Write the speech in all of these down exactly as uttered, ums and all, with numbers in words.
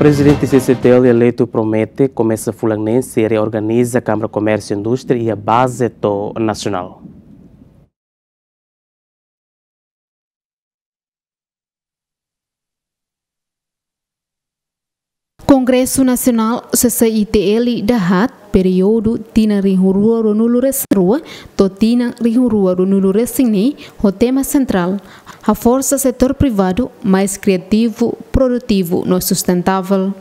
Prezidente C C I T L eleitu promete komesa fulan neen sei reorganiza Kámara Komérsiu Indústria iha baze to'o nasionál. Kongresu Nasionál C C I T L dahaat, períodu tinan rihun rua ruanulu-resin-rua to'o tinan rihun rua ruanulu-resin-neen, ho tema sentrál: Haforsa setór privadu mais kriativu, produtivu no sustentável.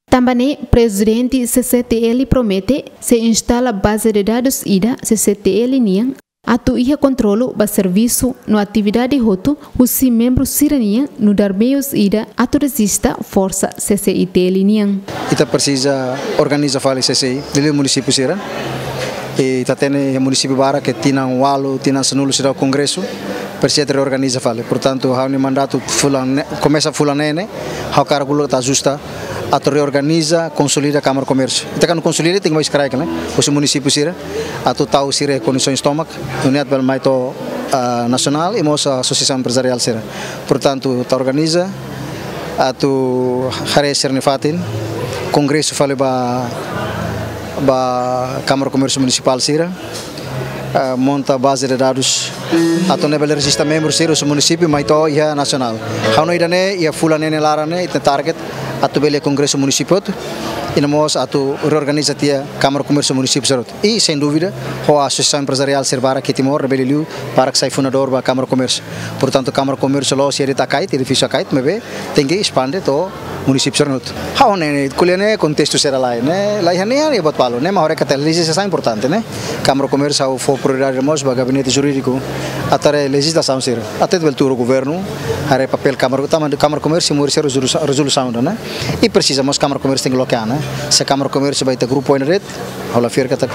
Tanba ne'e, Prezidente C C I T L promete sei instala baze de dadus ida C C I T L nian, atu iha kontrolu ba servisu no atividade hotu husi membru sira-nian, nu'udar meius ida atu rejista forsa C C I T L nian. Ita presiza organiza fali C C I, liuliu munisípiu sira. I ita hatene munisípiu barak ke tinan ualu, tinan sanulu seidauk kongresu, presiza reorganiza fali. Portantu, ha'u-nia mandatu fulan ne-, komesa fulan neen ne'e, ha'u hakarak uluk atu ajusta, atu reorganiza, konsolida Kámara Komérsiu. Ita kuandu konsolida, tenke mai eskrek, ne'e? Husi munisípiu sira, atu tau sira kondisoens tomak, nune'e atu bele mai to'o, ah, nasionál, i mós asosiasaun emprezariál sira. Portantu, ita organiza, atu haree sira-nia fatin, kongresu fali ba, ba Kámara Komérsiu Munisipál sira, ah, monta baze de dadus, atu nune'e bele rejista membru sira husi munisípiu mai to'o iha nasionál. Ha'u hanoin ida-ne'e, iha fulan neen nia laran ne'e, ita target atu bele kongresu munisípiu hotu, i no mós atu reorganiza tiha Kámara Komérsiu munisípiu sira hotu. I, sem dúvida, ho asosiasaun emprezariál sira barak iha Timor, ne'ebé liuliu barak sai fundadór ba Kámara Komérsiu. Portantu, Kámara Komérsiu la'ós iha de'it Akait, edifísiu Akait, maibé tenke espande to'o munisípiu sira hotu. Ha'u hanoin ne'e, ko'alia ne'e kontestu sira lae, ne'e, lae hanesan ne'e buat balu, ne'e, maibé katak lejizla importante, ne'e. Kámara Komérsiu ha'u fó prioridade mós ba gabinete jurídiku atu haree lejizlasaun sira. Atu bele tuur governu, haree papél Kámara, tanba Kámara Komérsiu moris rezolusa-, rezolusaun ida, ne'e. I presiza mós Kámara Komérsiu tenke loke an, ne'e. Se Kámara Komérsiu ba ita grupu ida de'it, ha'u la fiar katak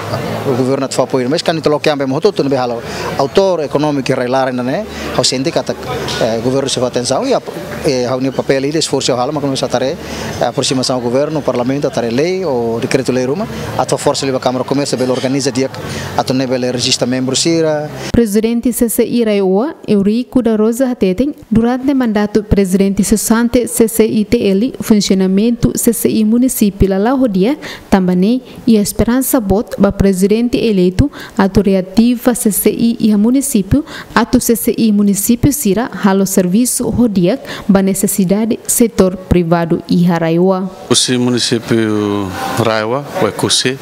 governu atu fó apoiu, mas kuandu ita loke an ba ema hotu-hotu ne'ebé hala'o, autór ekonómiku iha rai-laran ida-ne'e, ha'u sente katak, eh, governu sei fó atensaun, i ap-, eh, ha'u-nia papél ida, esforsu ha'u halo, mak komesa atu haree, eh, aprosimasaun ho governu, parlamentu, atu haree lei ou dekretu-lei ruma, atu fó forsa liu ba Kámara Komérsiu bele organiza di'ak, atu nune'e bele rejista membru sira. Prezidente C C I RAEOA, Eurico da Rosa hateten, durante mandatu prezidente sesante C C I T L, funsionamentu C C I munisípiu la la'o ho di'ak, tanba ne'e iha esperansa boot ba prezidente eleitu atu reativa C C I iha munisípiu, atu C C I munisípiu sira halo servisu ho di'ak ba nesesidade setór privadu iha RAEOA. Husi munisípiu RAEOA, Oekusi,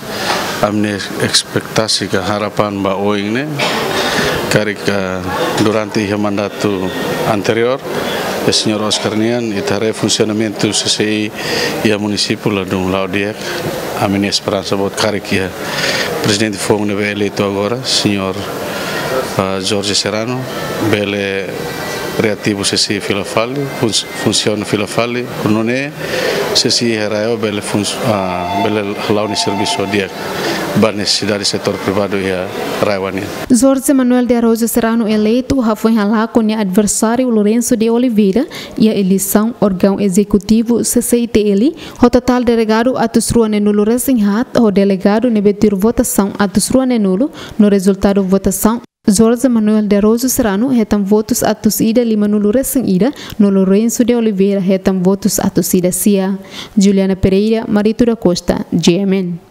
ami-nia espetativa ka harapan ba oin ne'e, karik, ah, durante iha mandatu anteriór, iha señór Oscar nian, ita haree funsionamentu C C I iha munisípiu ladún la'o di'ak, ami-nia esperansa boot karik iha prezidente foun ne'ebé eleitu agora, señór, ah, Jorge Serrano, bele reativa C C I fila fali, funs-, funsiona fila fali, nune'e C C I iha RAEOA bele funs-, ah, bele hala'o nia servisu di'ak ba nesesidade setór privadu iha RAEOA nian. Jorge Manuel de Araújo Serrano eleitu hafoin halakon nia adversáriu Lourenço de Oliveira iha eleisaun órgaun ezekutivu C C I T L, ho totál delegadu atus rua neenulu-resin-haat, ho delegadu ne'ebé tuir votasaun atus rua neenulu, no rezultadu votasaun, Jorge Manuel de Araújo Serrano hetan votus atus ida limanulu-resin-ida, no Lourenço de Oliveira hetan votus atus ida sia. Juliana Pereira, Marito da Costa, G M N.